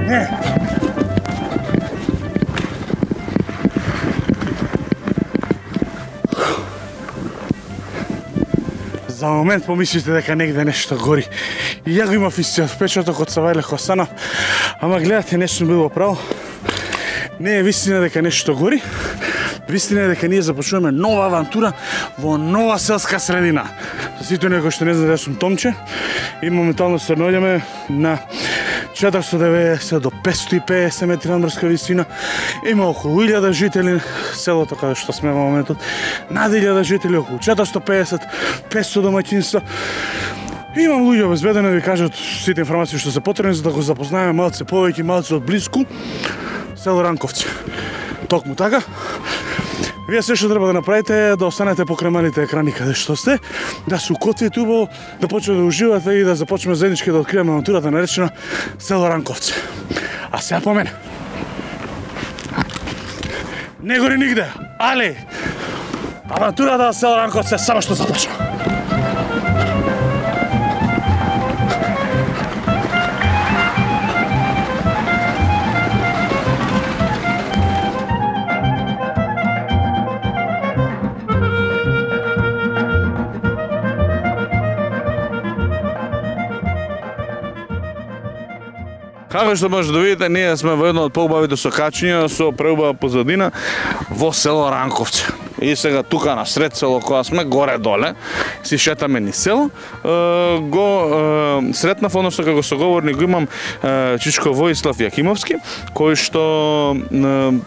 Не. За момент помислите дека негде нешто гори. И ја го имав истиот впечаток од Савајле Хосана, ама гледате, не сум бил право. Не е вистина дека нешто гори. Вистина е дека ние започнуваме нова авантура во нова селска средина. За сите оние кои што не знаат, јас сум Томче и моментално се наоѓаме на 490 до 550 метри надморска висина. Има околу 1000 жители селото каде што сме во моментот. Над 1000 жители, околу 450, 500 домаќинства. Имам луѓе обезбедено да ви кажат сите информации што се потребни за да го запознаеме малце повеќе, малце од близку село Ранковци. Токму така. Вие се што треба да направите е да останете покрај малите екрани каде што сте, да се укотвите убаво, да почнете да уживате и да започнеме заеднички да откриеме авантурата наречена село Ранковци. А сега по мене. Не гори нигде, али авантурата на село Ранковци само што започна. Како што може да видите, ние сме во едно од поубавите сокачиња со преубава позадина во село Ранковци. И сега тука на сред село кога сме, горе-доле, си шетаме ни село, го сретнав, односно како соговорник го имам Чичко Воислав Јакимовски, кој што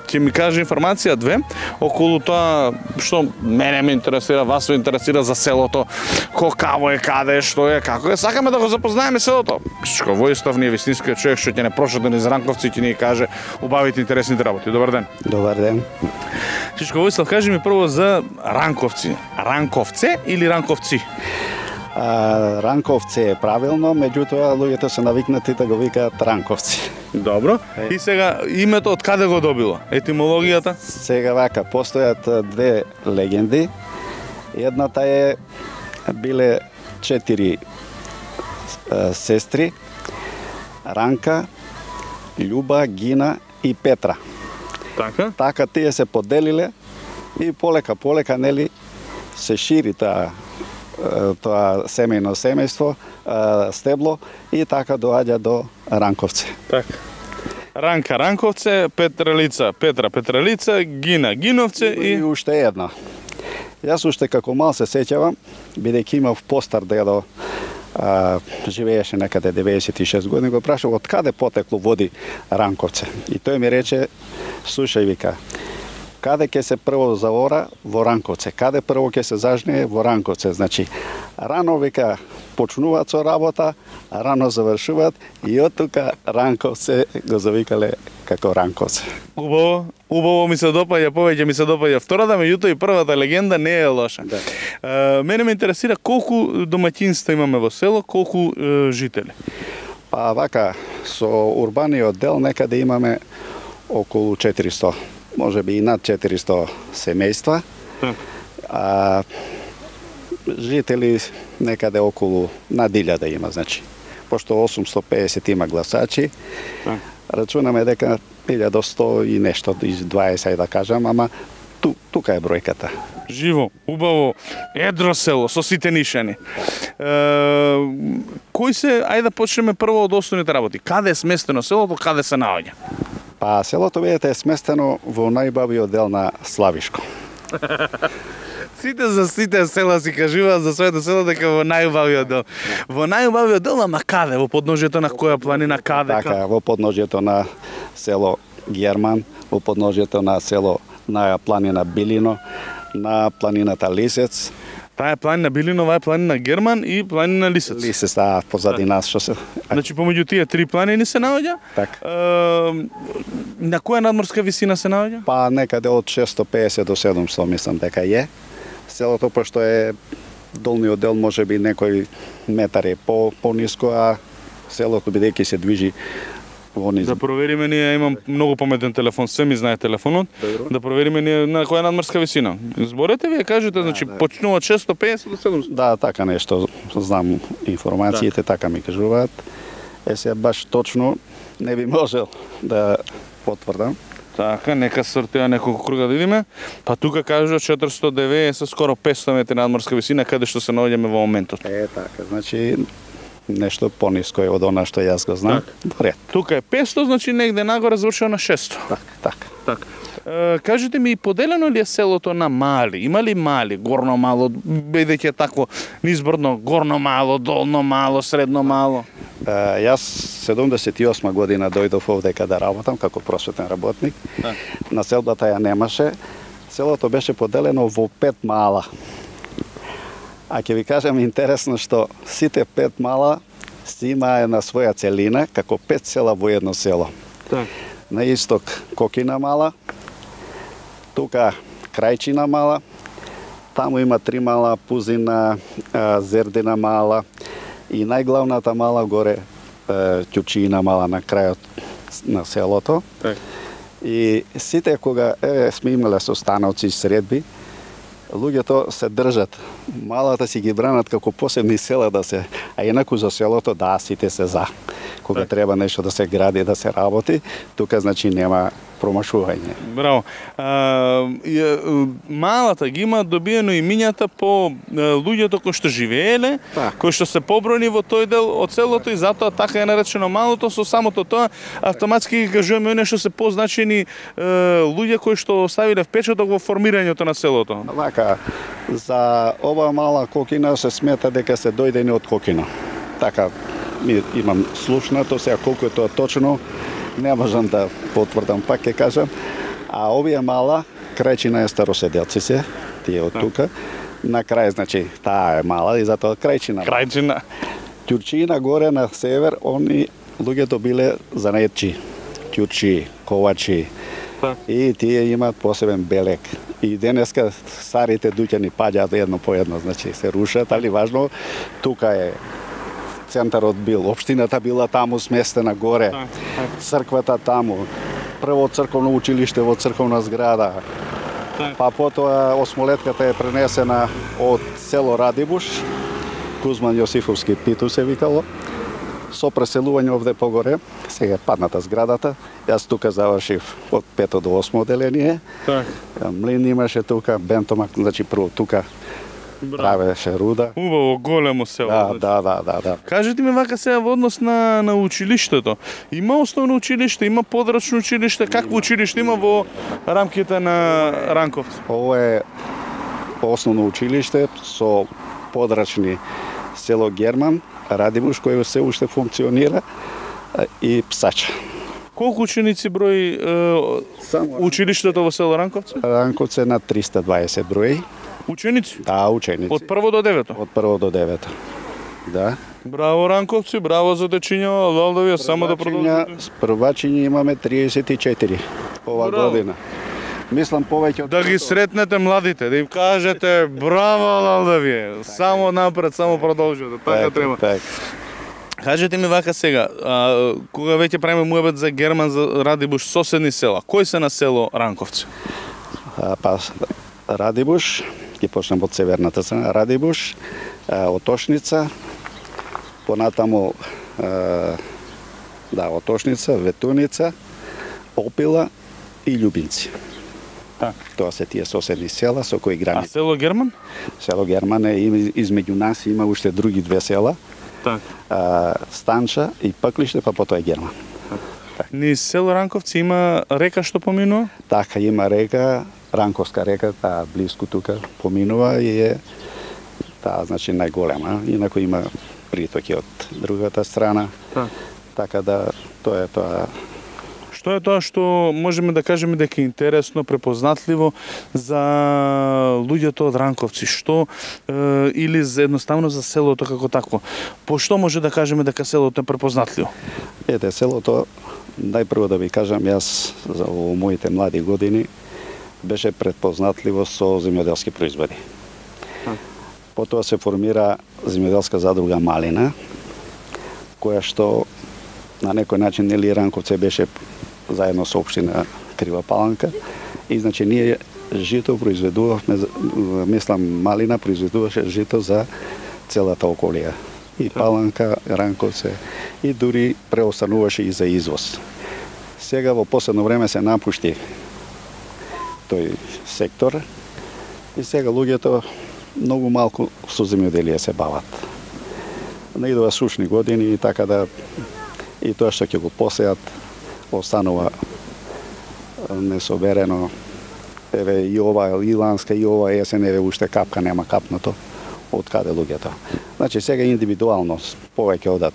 ќе ми каже информација две околу тоа што мене ме интересира, вас ме интересира за селото, какаво е, каде, што е, како е. Сакаме да го запознаеме селото. Чичко Воислав ни е вистинскиот човек што ќе не прошете низ Ранковци и ќе ни каже убавите интересните работи. Добар ден. Добар ден. Чичко Воислав, кажи ми прво за Ранковци. Ранковце или Ранковци? Ранковци е правилно, меѓутоа луѓето се навикнати да го викаат Ранковци. Добро. И сега името од каде го добило? Етимологијата? Сега вака, постојат две легенди. Едната е биле 4 сестри, Ранка, Љуба, Гина и Петра. Така? Така тие се поделиле и полека нели се шири тоа семејство, стебло и така доаѓа до Ранковци. Така. Ранка Ранковце, Петра Петралица, Гина Гиновце и уште една. Јас уште како мал се сеќавам, бидејќи имав постар дедо, живееше некаде 96 години, го прашав од каде потекло води Ранковце. И тој ми рече, слушај, вика, каде ќе се прво заора? Во Ранковце. Каде прво ќе се зажнее? Во Ранковце. Значи, рано, вика, почнуваат со работа, рано завршуваат и од тука Ранковце го завикале како Ранковце. Убаво ми се допаѓа, повеќе ми се допаѓа втората, меѓутоа и првата легенда не е лоша. Да. Мене ме интересира колку домаќинства имаме во село, колку жители. Па вака, со урбаниот дел некаде имаме околу 400, може би и над 400 семејства. Жители некаде околу над 1000 има, значи. Пошто 850 има гласачи, рачунаме дека 1100 и нешто, 20 да кажам, ама тука е бројката. Живо, убаво, едро село, со сите нишани. Кои се, ајде да почнеме прво од основните работи. Каде е сместено селото, каде се наоѓа? Па селото, видите, е сместено во најбавиот дел на Славишко. Сите за сите села си кажуваат за своето село дека во најубавиот дел. Во најубавиот дел, ама каде? Во подножјето на која планина, каде? Така, во подножјето на село Герман, во подножјето на село на планина Билино, на планината Лисец. Таа е планина Билино, оваа е планина Герман и планина Лисец. Лисец, позади нас што се. Значи помеѓу тие три планини се наоѓа? Така. На која надморска висина се наоѓа? Па некаде од 650 до 700 мислам дека е. Селото, пошто е долниот дел може би некој метар е по-ниско, а селото бидејќи се движи во низ. Да провериме, ние имам многу паметен телефон, се ми знае телефонот. Добро. Да провериме ние на која надморска висина. Зборете вие кажете, значи почнува од 650 до 700. Да, така нешто знам информациите, така ми кажуваат. Се баш точно не би можел да потврдам. Така, нека сортира неколку круга да видиме. Па тука кажа 490, скоро 500 метри надморска висина, каде што се наоѓаме во моментот. Така, значи нешто пониско е од она што јас го знам. Ред. Тука е 500, значи негде нагоре завршува на 600. Така. Кажете ми, поделено ли е селото на мали? Има ли мали, горно мало, бидејќи такво низборно, горно мало, долно мало, средно мало? Јас 78 година дојдов овдека да работам како просветен работник. Населбата ја немаше. Селото беше поделено во 5 мала. А ќе ви кажам интересно што сите 5 мала си имаа на своја целина како 5 села во едно село. На исток Кокина мала, тука Крајчина мала, таму има 3 мала, Пузина, Зердина мала и најглавната мала горе Ќучина мала на крајот на селото. И сите кога сме имале состаноци и средби, луѓето се држат. Малата си ги бранат како посебни села да се, а инаку за селото сите се за. Кога треба нешто да се гради, да се работи, тука значи нема промашување. Браво. Малата ги има добиено имињата по луѓето кои што живееле, кои што се побројни во тој дел од селото и затоа така е наречено малото. Со самото тоа автоматски ги кажуваме оние што се позначени луѓе кои што оставиле впечаток во формирањето на селото. Вака, за ова мала Кокина се смета дека се дојдени од Кокина. Така имам слушнато, сега колку е тоа точно, не можам да потврдам, пак ќе кажам. А овие мала, Крајчина е староседелци се, тие од тука. На крај, значи, таа е мала и затоа Крајчина. Ќурчина горе на север, они луѓето биле занаетчи. Ќурчи, ковачи. И тие имаат посебен белек. И денеска старите дуќани паѓаат едно по едно, значи се рушат, али важно, тука е центарот бил, општината била таму сместена горе, црквата таму, прво црковно училиште во црковна зграда, па потоа осмолетката е пренесена од село Радибуш, Кузман Јосифовски Питу се викало, со преселување овде погоре, сега е падната зградата, јас тука завршив од 5 до 8 оделение, млин имаше тука, бентомак, значи прво тука, правеше руда. Убаво, големо село. Да. Кажете ми вака сега во однос на училиштето. Има основно училиште, има подрачно училиште, какво училиште има во рамките на Ранковци? Ово е основно училиште со подрачни село Герман, Радибуш, кој се уште функционира, и Псача. Колку ученици брои училиштето во село Ранковци? Ранковци на 320 брои. Ученици? Да, ученици. Од прво до девето? Од прво до девето. Да. Браво Ранковци, браво за дечиња, Лалдовија, само да продолжите. Првачиња имаме 34 ова година. Мислам повеќе од да ги сретнете младите, да им кажете браво Лалдовија, само напред, само продолжете, така треба. Кажете ми вака сега, кога веќе правиме муабет за Герман, за Радибуш, соседни села, кои се на село Ранковци? Па Радибуш, ќе почнем од северната страна, Радибуш, Отошница, понатаму Отошница, Ветуница, Опила и Љубинци. Тоа се тие соседни села со кои граници. А село Герман? Село Герман е измеѓу нас, има уште други две села. Станча и Паклиште, па потоа е Герман. Низ село Ранковци има река што поминува? Така, има река, Ранковска река, таа близко тука поминува и е таа значи најголема. Инаку има притоки од другата страна. Така да тоа е тоа. Што е тоа што можеме да кажеме дека е интересно, препознатливо за луѓето од Ранковци? Што или едноставно за селото како такво? По што може да кажеме дека селото е препознатливо? Селото, најпрво да ви кажам, јас во моите млади години беше препознатливо со земјоделски производи. Потоа се формира земјоделска задруга Малина, која што на некој начин нели Ранковци беше заедно со општина Крива Паланка и значи ние жито произведувавме, мислам Малина произведуваше жито за целата околија и Паланка, Ранковце, и дури преостануваше и за извоз. Сега во последно време се напушти тој сектор и сега луѓето многу малку со земјоделие се бават. Наидува сушни години и така да и тоа што ќе го посеат останува несоберено. Еве и ова иланска и ова есен еве уште капка нема капнато од каде луѓето. Значи сега индивидуално повеќе одат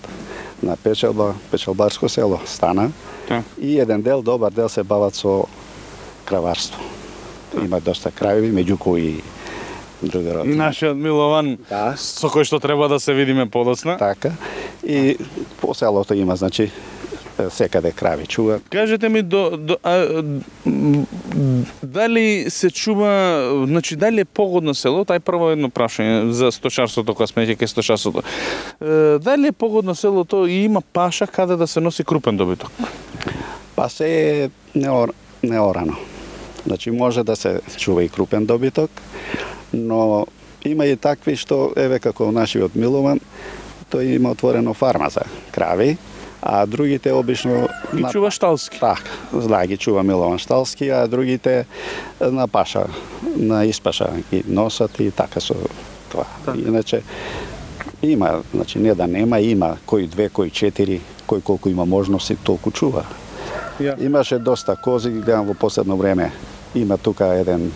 на печалбарско село стана и еден дел, добар дел се бават со краварство. Има доста крајови, меѓу кои други роди. И нашиот Милован, со кој што треба да се видиме подоцна. Така. И по селото има, значи, секаде крави чува. Кажете ми, дали се чува, значи, дали е погодно село, тај прво едно прашање за сточарството, кога сме ќе сточарството. Дали е погодно селото и има паша каде да се носи крупен добиток? Па се е неорано. Значи, може да се чува и крупен добиток, но има и такви што, еве како нашиот Милован, тој има отворено фарма за крави, а другите обично ги чува шталски. Така, да, ги чува Милован шталски, а другите на паша, на испаша ги носат и така со тоа. Иначе има, значи не да нема, има кој 2, кој 4, кој колку има можности, толку чува. Имаше доста кози, гледам во последно време. Има тука еден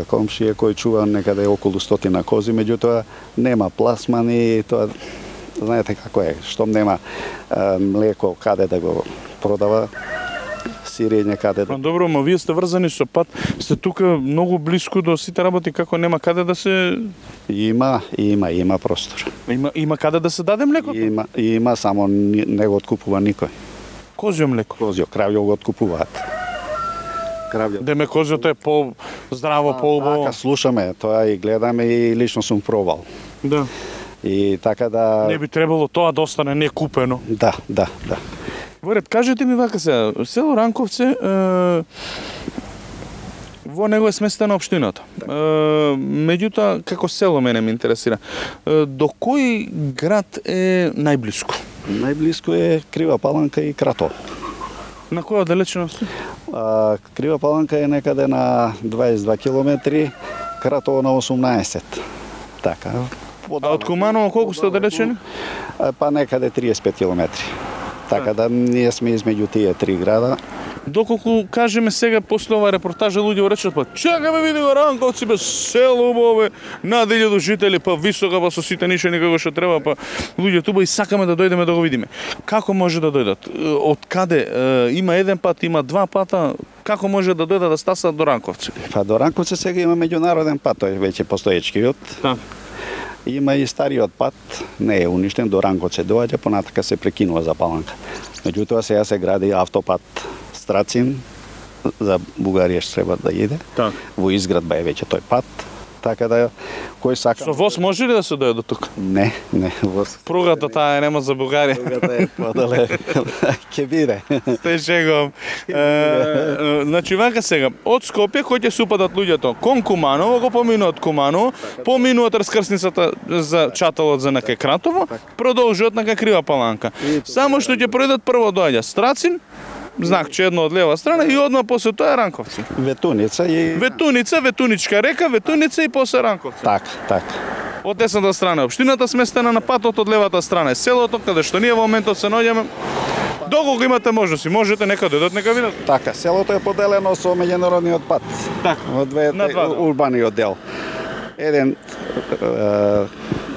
комшија кој чува некаде околу 100 кози, меѓутоа нема пласмани, тоа знаете како е, штом нема млеко каде да го продава, сирење каде да... Добро, но вие сте врзани со пат, сте тука многу блиску до сите работи, како нема каде да се... Има простор. Има каде да се даде млекото? Има, само не го откупува никој. Козјо млеко? Козјо, кравјо го откупуваат. Деме козјото е по-здраво, по-убаво. Така слушаме, тоа и гледаме и лично сум пробал. Да. И така да... Не би требало тоа да остане некупено. Да. Во ред, кажете ми вака сега, село Ранковце, во него е сместена општината. Меѓутоа, како село мене ме интересира, до кој град е најблиску? Најблиску е Крива Паланка и Крато. На која оддалеченост? Крива Паланка е некаде на 22 километри, Крато на 18. Така. А од Куманово колку сте оддалечени? Па некаде 35 километри. Така да ние сме измеѓу тие три града. Доколку кажеме сега после ова репортажа луѓе речат па чекаме види го Ранковци бе село убаво, над 1000 жители, па висока, па со сите нише никако што треба, па луѓе туба и сакаме да дојдеме да го видиме. Како може да дојдат? Од каде? Има еден пат, има два пата? Како може да дојдат да стасат до Ранковци? Па до Ранковци сега има меѓународен пат, тој веќе постоечкиот. Да. Има и стариот пат, не е уништен, до Ранковци доаѓа, понатака се прекинува за Паланка. Меѓутоа сега се гради автопат Страцин, за Бугарија што треба да иде. Так. Во изградба е веќе тој пат. Така да кој сака... Со воз може ли да се дојде до тука? Не, воз. Пругата таа нема за Бугарија. Пругата е подале. Ќе биде. Те шегом. Значи вака сега, од Скопје кој ќе се упадат луѓето кон Куманово, го поминуваат Куманово, поминуваат раскрсницата за чаталот за нака Кратово, продолжуваат нака Крива Паланка. Само што ќе пројдат прво доаѓа Страцин, знакче едно од лева страна и одма после тоа е Ранковци. Ветуница и... Ветуничка река, Ветуница и после Ранковци. Так. Од десната страна општината сместена на патот, од левата страна е селото, каде што ние во моментот се наоѓаме. Доколку имате можности, можете нека дојдат, нека видат. Така, селото е поделено со меѓународниот пат. Така. Во двете урбаниот дел. Еден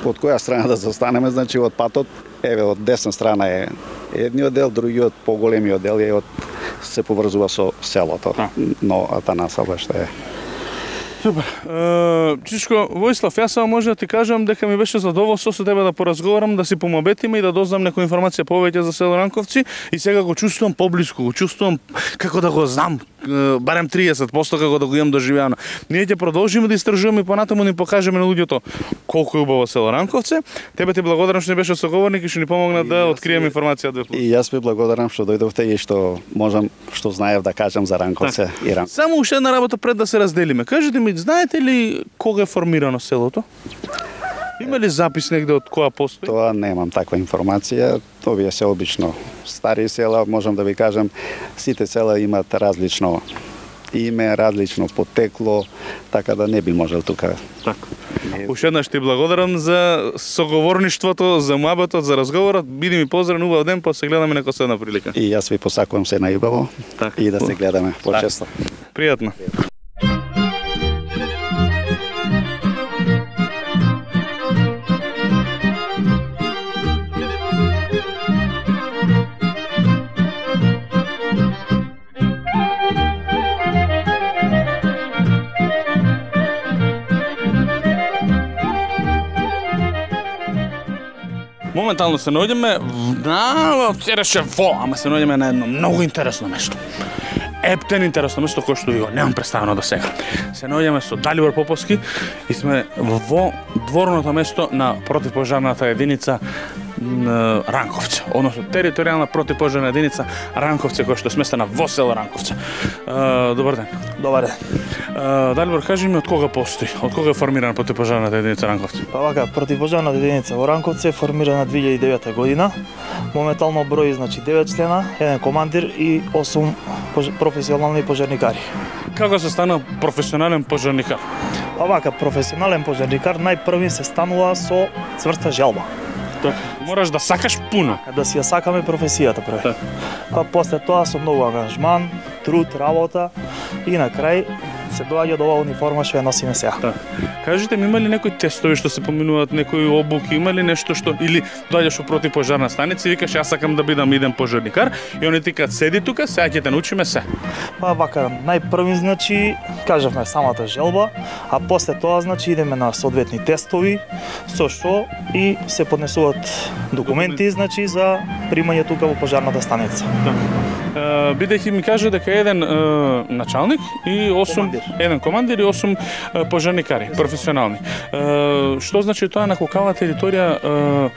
од која страна да застанеме, значи од патот, еве од десна страна е едниот дел, другиот поголемиот дел е се поврзува со селото. Но Атанаса баш е. Супер. Чичко, Војслав, јас само може да ти кажам дека ми беше задоволство со тебе да поразговарам, да си помобетиме и да дознам некоја информација повеќе за село Ранковци и сега го чувствувам поблиску, го чувствувам како да го знам, барем 30% како да го имам доживеано. Ние ќе продолжиме да истражуваме и понатаму ни покажеме на луѓето колку е убаво село Ранковци. Тебе ти благодарам што ни беше соговорник и што ни помогна да откриеме информација од И јас ви благодарам што дојдовте и што можам, што знаев да кажам за Ранковци и Ранковци. Само уште една работа пред да се разделиме. Кажете ми, знаете ли кога е формирано селото? Има ли запис негде од која постои? Тоа немам таква информација. Овие се обично стари села, можам да ви кажам, сите села имаат различно име, различно потекло, така да не би можел тука. Така. Уште еднаш ти благодарам за соговорништвото, за муабетот, за разговорот. Биди ми поздрав, убав ден, па се гледаме некоја следна прилика. И јас ви посакувам се најубаво и да се гледаме почесто. Пријатно. Моментално се наоѓаме ама се наоѓаме на едно многу интересно место. Ептен интересно место кое што ви го немам представено до сега. Се наоѓаме со Далибор Поповски и сме во дворното место на противпожарната единица Ранковци, односно територијална противпожарна единица Ранковци, која што е сместена во село Ранковци. Добар ден. Добар ден. Далибор, кажи ми од кога постои? Од кога е формирана противпожарната единица Ранковци? Па вака, противпожарната единица во Ранковци е формирана 2009 година. Моментално брои 9 члена, еден командир и 8 професионални пожарникари. Како се стана професионален пожарникар? Па вака, професионален пожарникар најпрви се станува со цврста желба. Мораш да сакаш пуно. Да си ја сакаме професијата прво. Па после тоа со многу ангажман, труд, работа и на крај се доаѓа до оваа униформа што ја носиме сега. Кажете ми, има ли некои тестови што се поминуваат, некои обуки, има ли нешто што или доаѓаш во противпожарна станица и викаш јас сакам да бидам иден пожарникар и они ти кажат седи тука, сега ќе те научиме се. Па вака, најпрви кажавме самата желба, а после тоа идеме на соодветни тестови со што и се поднесуваат документи за примање тука во пожарната станица. Бидејќи ми кажа дека еден началник и 8 командир и 8 пожарникари професионални. Што значи тоа, на колкава територија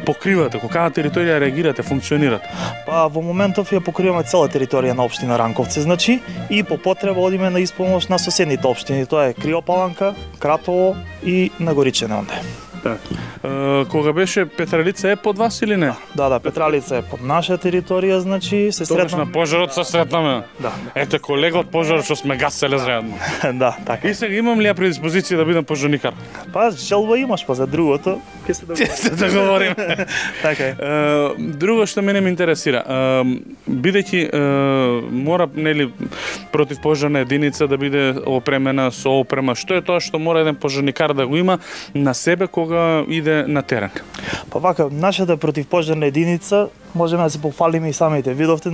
покривате, колкава територија реагирате, функционирате? Па во моментов ја покриваме цела територија на општина Ранковци, и по потреба одиме на исполнос на соседните општини, тоа е Криопаланка, Кратово и Нагоричене онде. Кога беше Петралица е под вас или не? Да, Петралица е под наша територија, се сретнаме. Тогаш на пожарот се сретнаме. Да. Ете колега од пожарот што сме гаселе заедно. Да, така. И сега имам ли ја предиспозиција да бидам пожарникар? Па желба имаш, па за другото ќе се договориме. Така е. Друго што мене ме интересира, бидејќи мора противпожарна единица да биде опремена со опрема, што е тоа што мора еден пожарникар да го има на себе кога иде на терен? Па вака, нашата противпожарна единица можеме да се пофалиме и самите видовте,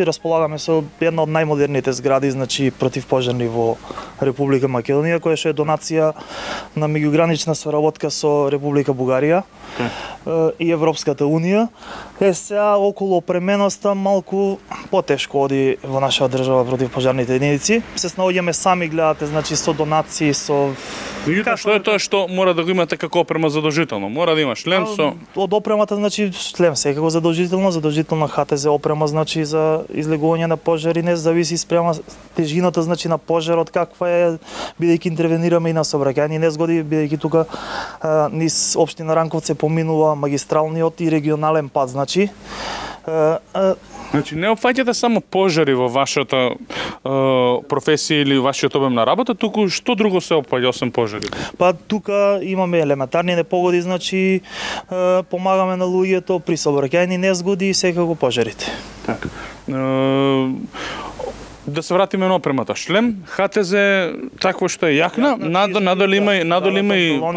располагаме со една од најмодерните згради, противпожарни во Република Македонија, која што е донација на меѓугранична соработка со Република Бугарија и Европската Унија. Сега околу опременоста малку потешко оди во нашата држава противпожарните единици. Се снаоѓаме сами, гледате, со донации, со Што е тоа што мора да го имате како опрема задолжително? Мора да има шлем со... Од опремата, шлем секако задолжителна ХТЗ опрема, за излегување на пожари, не зависи спрема тежината, на пожарот, каква е, бидејќи интервенираме и на сообраќајни незгоди, бидејќи тука низ општина Ранковци поминува магистралниот и регионален пат, не опфаќате само пожари во вашата професија или вашиот обем на работа, туку што друго се опфаќа освен пожари? Па тука имаме елементарни непогоди, помагаме на луѓето при сообраќајни незгоди и секако пожарите. Така. Да се вратиме на опремата. Шлем, ХТЗ, такво што е јакна, надоле има и...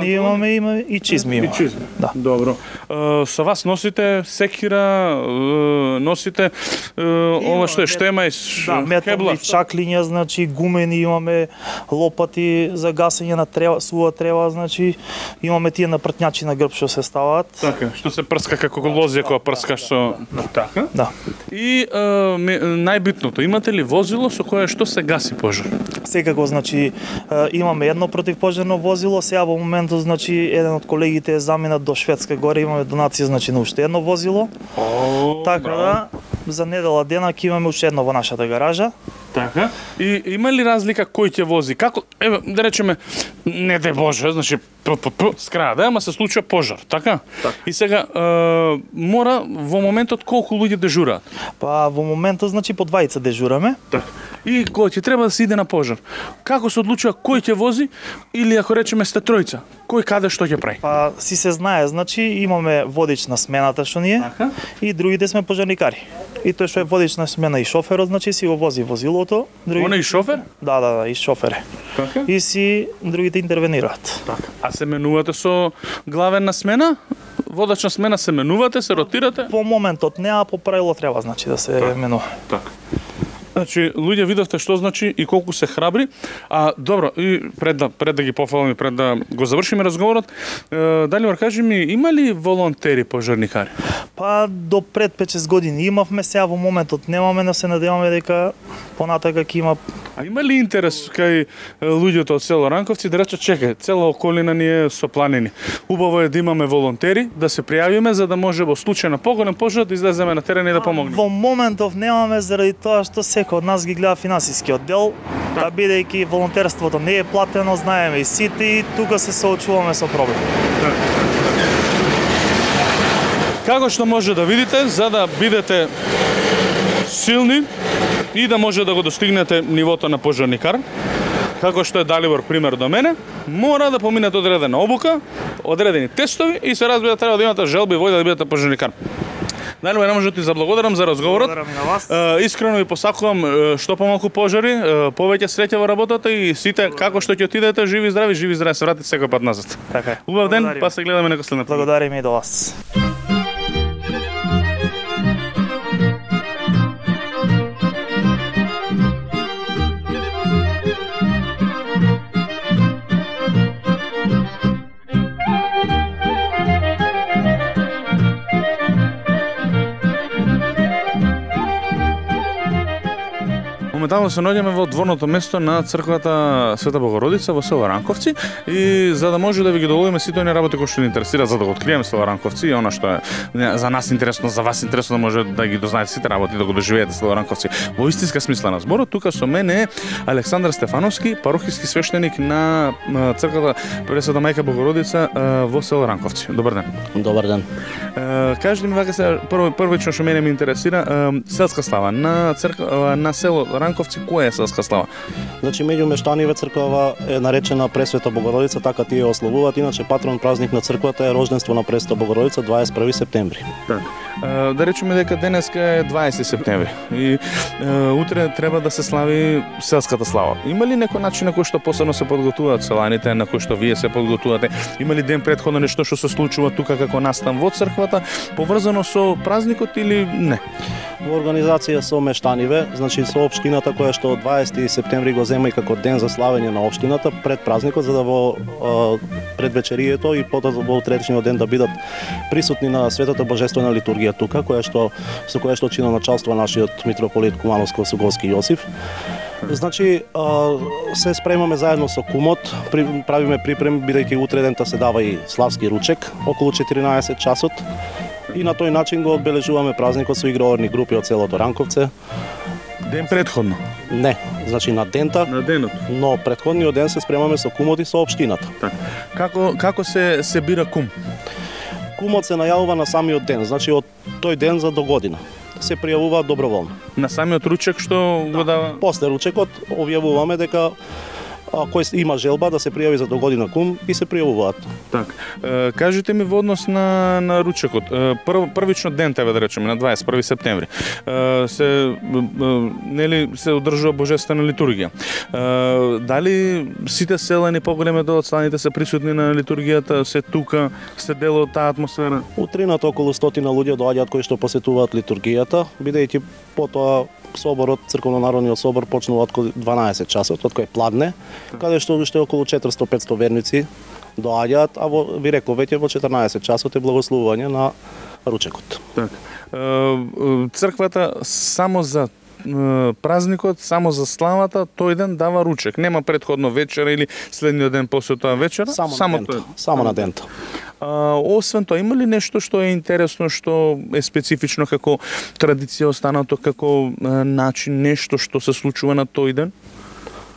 Имаме и чизми. И чизми. Да. Добро. Со вас носите секира, носите ова што е штема и метални чаклиња, гумени, имаме лопати за гасење на сува трева, имаме тие напртњачи на грб што се ставаат. Така, што се прска како лозија кога прскаш со... Така? Да. И најбитното, имате ли возило со кое што се гаси пожар? Секако, имаме едно противпожарно возило, сега во моментот, еден од колегите е заминат до Шведска горе, имаме донација, на уште едно возило. Така да, за недела дена ќе имаме уште едно во нашата гаража. Така. И има ли разлика кој ќе вози? Како, еве, да речеме, не де Боже, значи скрада, ама се случува пожар, така? И сега мора во моментот колку луѓе дежураат? Па во моментот значи по двајца дежураме. Така. И кој ќе треба да се иде на пожар? Како се одлучува кој ќе вози или ако речеме сте тројца, кој каде што ќе прави? Па си се знае, значи имаме водич на смената што ние Така. и другите сме пожарникари. И тој што е водич на смена и шоферот, значи си го вози возилото, Он и шофер? Да, и шофер е. Така. И си другите интервенираат. Така. А се менувате со главен на смена? Водач на смена се менувате, се ротирате? Во моментот не, а по правило треба значи да се менува. Така. Значи, луѓе видовте што значи и колку се храбри. А добро, и пред да ги пофалам и пред да го завршиме разговорот, Далибор, кажи ми, има ли волонтери пожарникари? Па до пред 5-6 години имавме, сега во моментот немаме, но се надеваме дека понатака ќе има. А има ли интерес кај луѓето од село Ранковци да речат, чекај, цела околина ни е со планини. Убаво е да имаме волонтери, да се пријавиме за да може во случај на поголем пожар да излеземе на терен и да помогнеме. Во моментов немаме заради тоа што секој од нас ги гледа финансиски оддел, да бидејќи волонтерството не е платено, знаеме и сите и тука се соочуваме со проблем. Како што може да видите, за да бидете силни и да може да го достигнете нивото на пожарникар, како што е Далибор пример до мене, мора да поминете одредена обука, одредени тестови и се разбира треба да имате желба и воља да бидете пожарникар. Далибор, не може да ти заблагодарам за разговорот. Благодарам и на вас. Искрено ви посакувам што помалку пожари, повеќе среќа во работата и сите како што ќе отидете живи и здрави се вратите секој пат назад. Така е. Убав ден, Благодарим. па се гледаме некој следна. Благодарим и до вас. Моментално се наоѓаме во дворното место на црквата Света Богородица во село Ранковци и за да може да ви ги доловиме сите оние работи кои што ни интересираат за да го откриеме село Ранковци и она што е за нас интересно, за вас интересно да може да ги дознаете сите работи, да го доживеете село Ранковци. Во истинска смисла на зборот, тука со мене е Александар Стефановски, парохиски свештеник на црквата Пресвета Мајка Богородица во село Ранковци. Добар ден. Добар ден. Кажете ми вака се првично што мене ме интересира, селска слава на црква на село Ранковци, која е селска слава? Значи меѓу мештаниве црквава е наречена Пресвета Богородица, така тие ја ославуваат. Иначе патрон празник на црквата е рожденство на Пресвета Богородица 21 септември. Да речеме дека денеска е 20 септември и утре треба да се слави селската слава. Има ли некој начин на кој што посебно се подготвуваат селаните, на кој што вие се подготвувате? Има ли ден претходно нешто што се случува тука како настан во црквата, поврзано со празникот или не? Во организација со мештаниве, значи со општината која што 20 септември го зема и како ден за славење на општината пред празникот, за да во предвечерието и потоа во утрешниот ден да бидат присутни на светата божествена литургија тука, со која што чина началство нашиот митрополит Кумановско-Суговски Јосиф. Значи, се спремаме заедно со кумот, правиме припрем, бидејќи утре дента се дава и славски ручек, околу 14 часот. И на тој начин го одбележуваме празникот со игроорни групи од селото Ранковце. Ден претходно? Не, значи на дента, На денот. но претходниот ден се спремаме со кумот и со општината. Како се бира кум? Кумот се најавува на самиот ден, значи од тој ден за до година. Се пријавуваат доброволно. На самиот ручек што го дава? После ручекот објавуваме дека кој има желба да се пријави за до година кум и се пријавуваат. Так. Кажете ми во однос на ручекот. Првично ден тебе да речеме на 21 септември. Се одржува божествена литургија. Дали сите селани поголем дел од селаните се присутни на литургијата, се тука, се дел од таа атмосфера? Утринато околу 100 луѓе доаѓаат кои што посетуваат литургијата, бидејќи потоа соборот, црковно-народниот собор почнува од 12 часот, од кој пладне, каде што уште околу 400-500 верници доаѓаат, а ви реков веќе во 14 часот е благословување на ручекот. Так. Црквата само за празникот, само за славата, тој ден дава ручек. Нема претходно вечера или следниот ден после тоа вечера, само тој. Само на ден. Освен тоа, има ли нешто што е интересно, што е специфично како традиција останато, како начин, нешто што се случува на тој ден?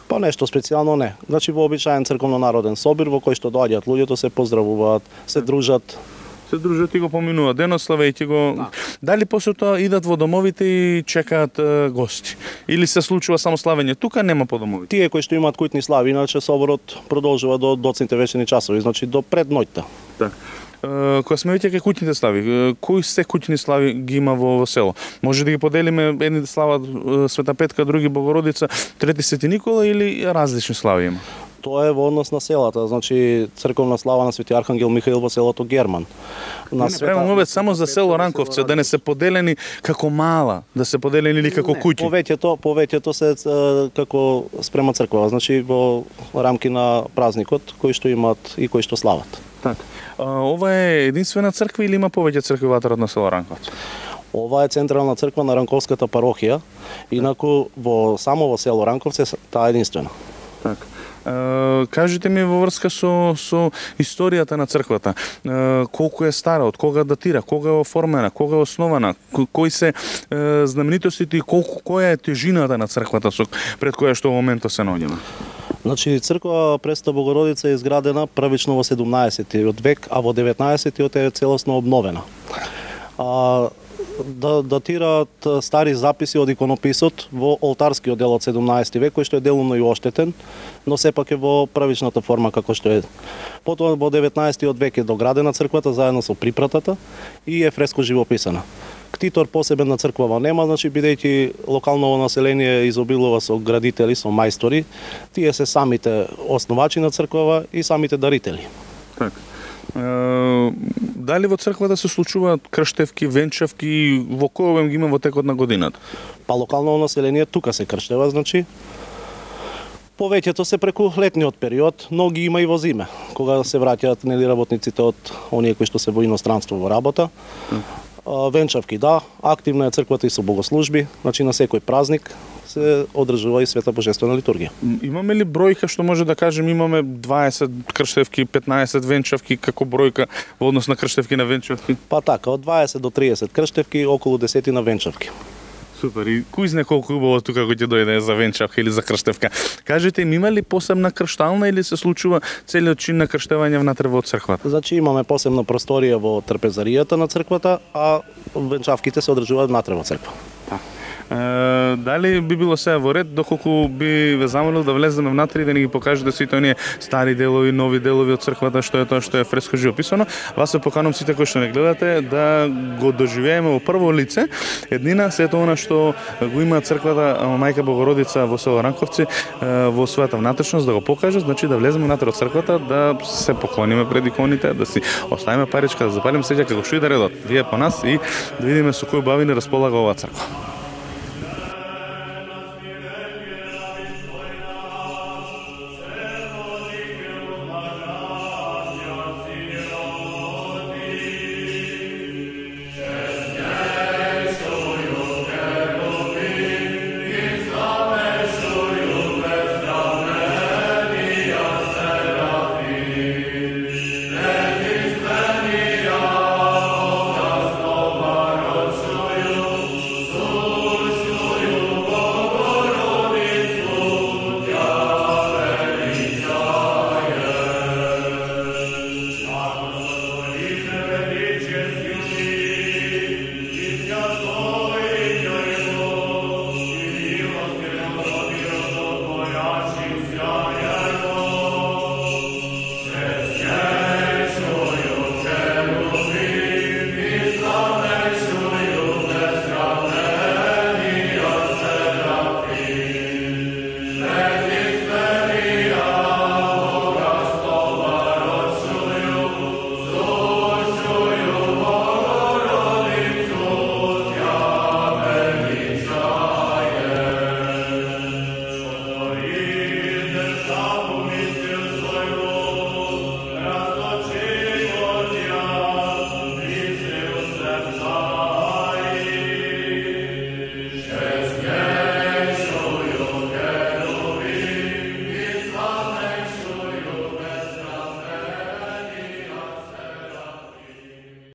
Па нешто специјално не. Значи во обичаен црковно-народен собир во кој што доаѓаат луѓето, се поздравуваат, се дружат. Се дружат и го поминуваат денот, славејќи го. Дали после тоа идат во домовите и чекаат гости? Или се случува само славење тука, нема по домовите? Тие кои што имаат куќни слави, иначе соборот продолжува до доцните вечерни часови, значи до пред ноќта. Так. Кога сме веќе кај куќните слави, кои се куќни слави ги има во село? Може да ги поделиме, едни слават Света Петка, други Богородица, трети Свети Никола или различни слави има? Тоа е во однос на селата, значи црковна слава на Свети Архангел Михаил во селото Герман. Не правам овде само за село Ранковце, да не се поделени како мала, да се поделени или како куќи. Повеќето се како спрема црква, значи во рамки на празникот кои што имаат и кои што слават. Така. Ова е единствена црква или има повеќе цркви во на село Ранковце? Ова е централна црква на Ранковската парохија, инаку само во село Ранковце таа е единствена. Така. Кажете ми во врска со историјата на црквата. Колку е стара, од кога датира, кога е оформена, кога е основана, кои се знаменитостите и која е тежината на црквата пред која што во моментот се наоѓаме? Значи, црква Пресвета Богородица е изградена првично во 17-тиот век, а во 19-тиот е целосно обновена. Датираат стари записи од иконописот во олтарскиот дел од 17 век, кој што е делумно и оштетен, но сепак е во првичната форма како што е. Потоа во 19-тиот век е доградена црквата заедно со припратата и е фреско живописана. Ктитор посебен на црквава нема, значи бидејќи локалново население изобилува со градители, со мајстори, тие се самите основачи на црквава и самите дарители. Така. Дали во црквата се случуваат крштевки, венчавки, во кој обем ги има во текот на годината? Па локалното население тука се крштева, значи повеќето се преку летниот период, но ги има и во зиме, кога се враќаат работниците од оние кои што се во иностранство во работа. Венчавки, да, активна е црквата и со богослужби, значи на секој празник се одржува и света божествена литургија. Имаме ли бројка што може да кажем имаме 20 крштевки, 15 венчавки како бројка во однос на крштевки на венчавки? Па така, од 20 до 30 крштевки, околу 10 на венчавки. Супер, и кој знае колку убаво тука кој ќе дојде за венчавка или за крштевка. Кажете им, има ли посебна крштална или се случува целиот чин на крштевање внатре во црквата? Значи имаме посебна просторија во трпезаријата на црквата, а венчавките се одржуваат внатре во црква. Дали би било сега во ред, доколку би ве замолил да влеземе внатре и да ни ги покажете сите оние стари делови, нови делови од црквата, што е тоа што е фреско живописано. Вас се поканувам сите кои што не гледате да го доживееме во прво лице еднина сето она што го има црквата Мајка Богородица во село Ранковци во својата внатрешност, да го покаже, значи да влеземе внатре од црквата, да се поклониме пред иконите, да си оставиме паричка, да запалиме сеќа како што и да редот. Вие по нас и да видиме со кои убавини располага оваа црква.